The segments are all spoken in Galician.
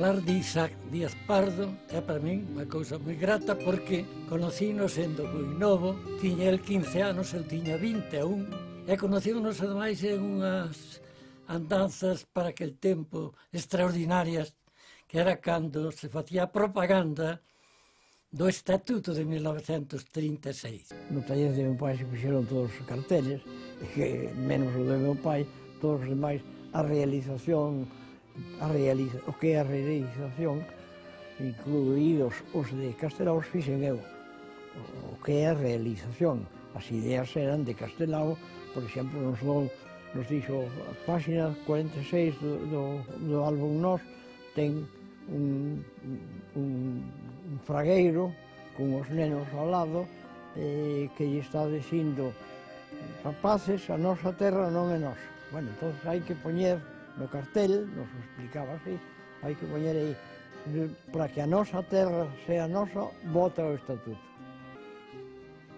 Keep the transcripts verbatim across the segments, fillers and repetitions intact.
falar de Isaac Díaz Pardo é para min unha cousa moi grata porque conocíno sendo moi novo, tiña el quince anos, eu tiña vinte e un, e conocímonos ademais en unhas andanzas para aquel tempo extraordinarias, que era cando se facía propaganda do Estatuto de mil novecentos trinta e seis. No taller de meu pai se fixeron todos os carteles, que menos o de meu pai, todos os demais, a realización, a realiza, o que é a realización, incluídos os de Castelao, fixen eu. O que é a realización. As ideas eran de Castelao, por exemplo, nos, do, nos dixo a página cuarenta e seis do, do, do álbum Nós, ten un, un, un fragueiro con os nenos ao lado, eh, que lle está dicindo: rapaces, a nosa terra non é nosa. Bueno, entón hai que poñer no cartel, nos explicaba así, hai que poñer aí, para que a nosa terra sea nosa, vota o Estatuto.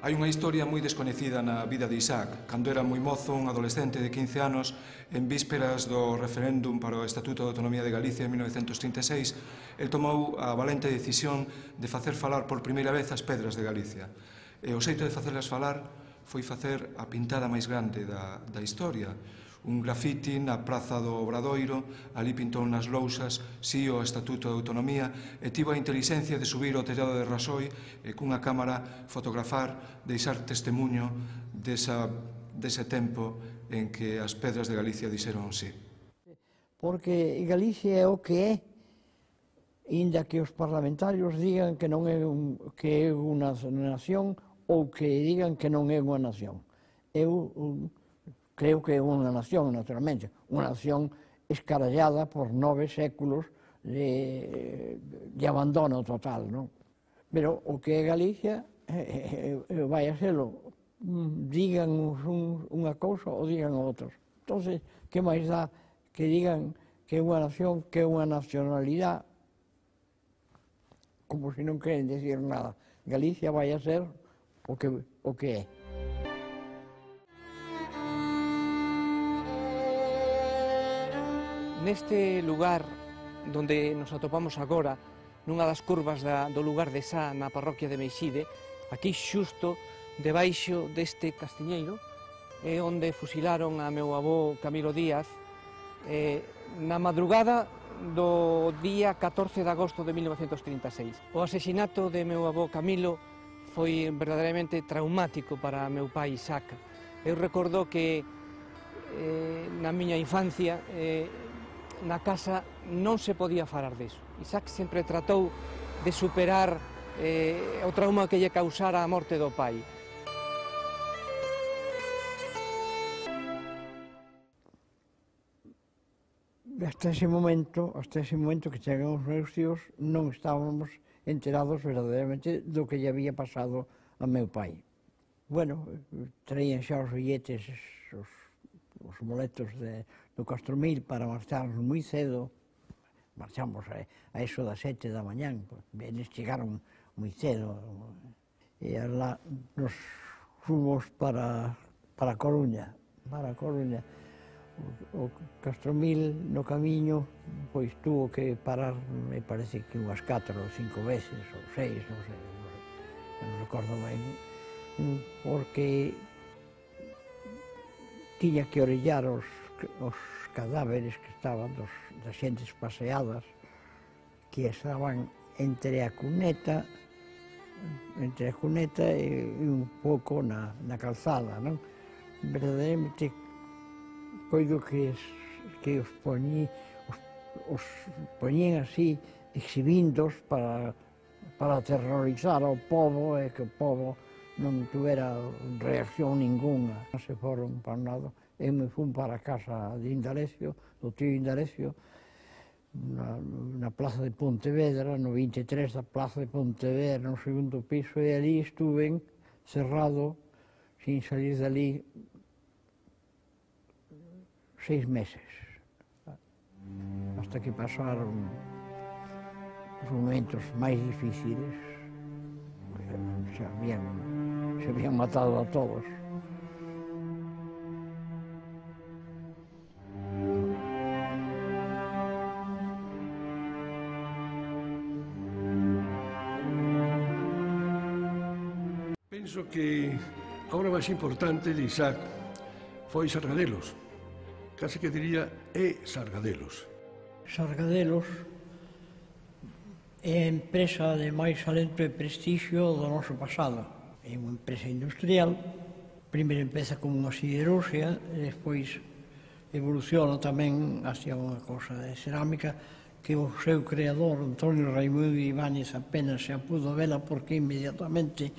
Hai unha historia moi descoñecida na vida de Isaac. Cando era moi mozo, un adolescente de quince anos, en vísperas do referéndum para o Estatuto de Autonomía de Galicia en mil novecentos trinta e seis, el tomou a valente decisión de facer falar por primeira vez as pedras de Galicia. E o xeito de facerlas falar foi facer a pintada máis grande da, da historia. Un grafiti na Praza do Obradoiro, ali pintou nas lousas si o Estatuto de Autonomía, e tivo a intelixencia de subir ao tellado de Rasoi e cunha cámara fotografar, deixar testemunho desa, dese tempo en que as pedras de Galicia dixeron sí. Porque Galicia é o que é, inda que os parlamentarios digan que non é, un, que é unha nación ou que digan que non é unha nación. Eu un, creo que é unha nación, naturalmente, unha nación escarallada por nove séculos de, de abandono total, non? Pero o que é Galicia eh, eh, vai a serlo, digan un, unha cousa ou digan outros. Entón, que máis dá que digan que é unha nación, que é unha nacionalidade, como se non queren decir nada. Galicia vai a ser o que, o que é. Neste lugar donde nos atopamos agora, nunha das curvas da, do lugar de Sá, na parroquia de Meixide, aquí xusto debaixo deste castiñeiro, é onde fusilaron a meu avó Camilo Díaz eh, na madrugada do día catorce de agosto de mil novecentos trinta e seis. O asesinato de meu avó Camilo foi verdadeiramente traumático para meu pai Isaac. Eu recordo que eh, na miña infancia eh, na casa non se podía falar deso. Isaac sempre tratou de superar eh, o trauma que lle causara a morte do pai. Hasta ese momento, hasta ese momento que chegan os meus tíos, non estábamos enterados verdadeiramente do que lle había pasado a meu pai. Bueno, traían xa os billetes, os, os boletos de, do Castromil para marcharnos moi cedo. Marchamos a, a eso das sete da mañán, pues, eles chegaron moi cedo. E lá nos fomos para, para Coruña, para Coruña. O, o Castromil no camiño, pois tuvo que parar, me parece que unhas catro ou cinco veces, ou seis, non sei, non recordo ben, porque tiña que orellar os, os cadáveres que estaban dos, das xentes paseadas, que estaban entre a cuneta, entre a cuneta e, e un pouco na, na calzada, non? Verdadeiramente coido que, es, que os, poñí, os, os poñían así, exhibindos para, para aterrorizar ao povo e que o povo non tuvera reacción ninguna. Non se foron para nada. Eu me fui para a casa de Indalecio, do tío Indalecio, na, na plaza de Pontevedra, no vinte e tres da plaza de Pontevedra, no segundo piso, e ali estuve cerrado, sin salir dali, seis meses, hasta que pasaron os momentos máis difíciles. Se habían, se habían matado a todos. Penso que a obra máis importante de Isaac foi Sargadelos. Case que diría é Sargadelos. Sargadelos é a empresa de máis alento e prestixio do noso pasado. É unha empresa industrial, primeiro empeza como unha siderurgia, e despois evoluciona tamén hacia unha cosa de cerámica que o seu creador, Antonio Raimundo Ibáñez, apenas se pudo vela porque inmediatamente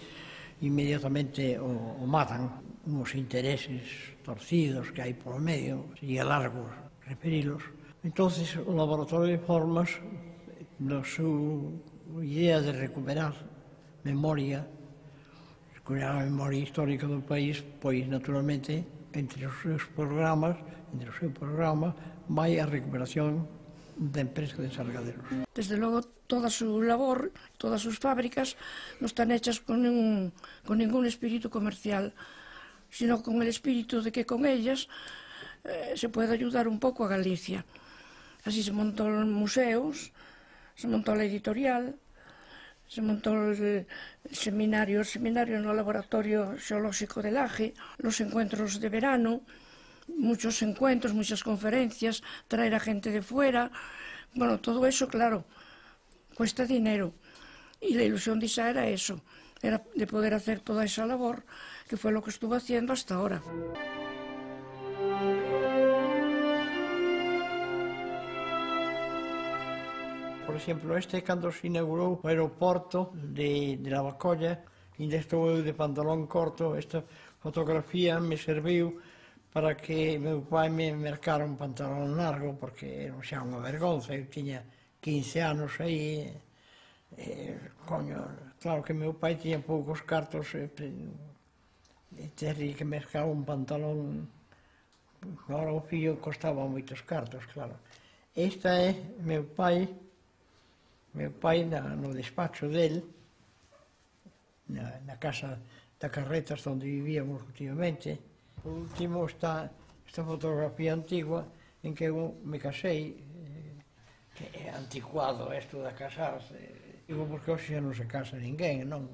inmediatamente o, o matan uns intereses torcidos que hai polo medio, sería largo referilos. Entonces o Laboratorio de Formas, na súa idea de recuperar memoria, recuperar a memoria histórica do país, pois naturalmente entre os seus programas, entre o seu programa, vai a recuperación da empresa de Sargadelos. Desde logo, toda a súa labor, todas as súas fábricas, non están hechas con ningún, con ningún espírito comercial, sino con el espírito de que con ellas eh, se pode ayudar un pouco a Galicia. Así se montó os museos, se montó la editorial, se montó el seminario, el seminario no laboratorio xeolóxico de Laje, los encuentros de verano, muchos encuentros, muchas conferencias, traer a gente de fuera. Bueno, todo eso, claro, cuesta dinero. Y la ilusión de Isa era eso, era de poder hacer toda esa labor, que fue lo que estuvo haciendo hasta ahora. Por exemplo, este cando se inaugurou o aeroporto de, de Lavacolla, ainda estou eu de pantalón corto, esta fotografía me serviu para que meu pai me mercara un pantalón largo, porque era xa unha vergonza, eu tiña quince anos aí, e, coño, claro que meu pai tiña poucos cartos, e, e terri que mercar un pantalón, agora o fillo costaba moitos cartos, claro. Esta é meu pai, meu pai na, no despacho del, na, na casa da Carretas onde vivíamos últimamente. Por último está esta fotografía antigua en que eu me casei, eh, que é anticuado isto de casarse, digo porque hoxe non se casa ninguén, non?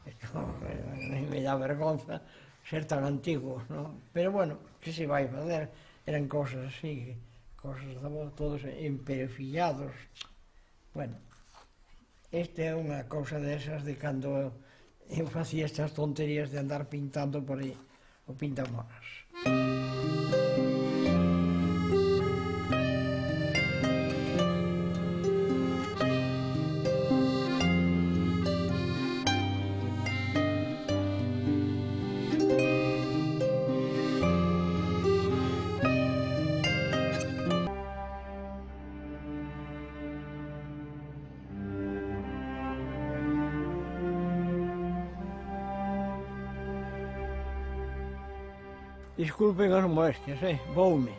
Isto eh, me dá vergonza ser tan antigo, non? Pero bueno, que se vai fazer? Eran cosas así, cosas todos emperefillados. Bueno, esta é unha cousa desas de cando eu facía estas tonterías de andar pintando por aí, o pintamonas. Disculpen as molestias, eh? Voume.